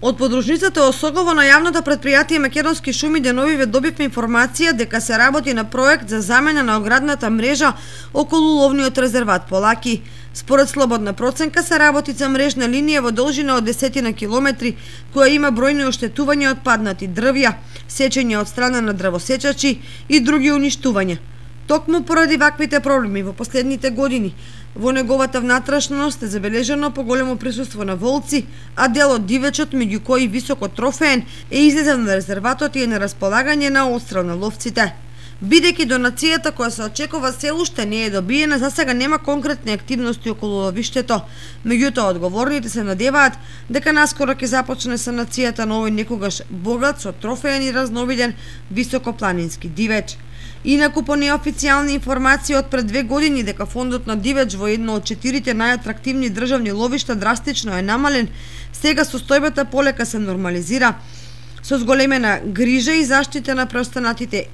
Од подружницата Осогово на јавното претпријатие Македонски шуми деновиве добивме информација дека се работи на проект за замена на оградната мрежа околу ловниот резерват Полаки. Според слободна проценка се работи за мрежна линија во должина од 10 на километри, која има бројни оштетувања од паднати дрвја, сечење од страна на дрвосечачи и други уништувања. Токму поради ваквите проблеми во последните години, во неговата внатрешност е забележено поголемо присуство на волци, а дел од дивечот, меѓу кои високо трофеен, е излезен на резерватот и е на располагање на отстрел на ловците. Бидејќи донацијата која се очекува се уште не е добиена, за сега нема конкретни активности околу ловиштето. Меѓутоа, одговорните се надеваат дека наскоро ќе започне санацијата на овој некогаш богат со трофеен и разновиден високопланински дивеч. Инаку по неофицијални информации од пред 2 години дека фондот на дивеч во едно од 4 најатрактивни државни ловишта драстично е намален, сега состојбата полека се нормализира со зголемена грижа и заштита на преостанатите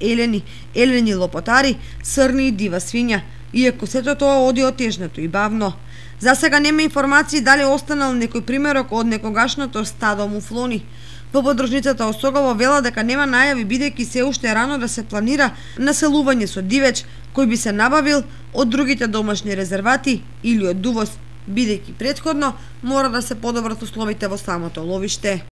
елени лопотари, срни и дива свиња, иако сето тоа оди отежнато и бавно. За сега нема информации дали останал некој примерок од некогашното стадо муфлони. Во подружницата Осогово вела дека нема најави бидејќи се уште е рано да се планира населување со дивеч кој би се набавил од другите домашни резервати или од увоз, бидејќи претходно мора да се подобрат условите во самото ловиште.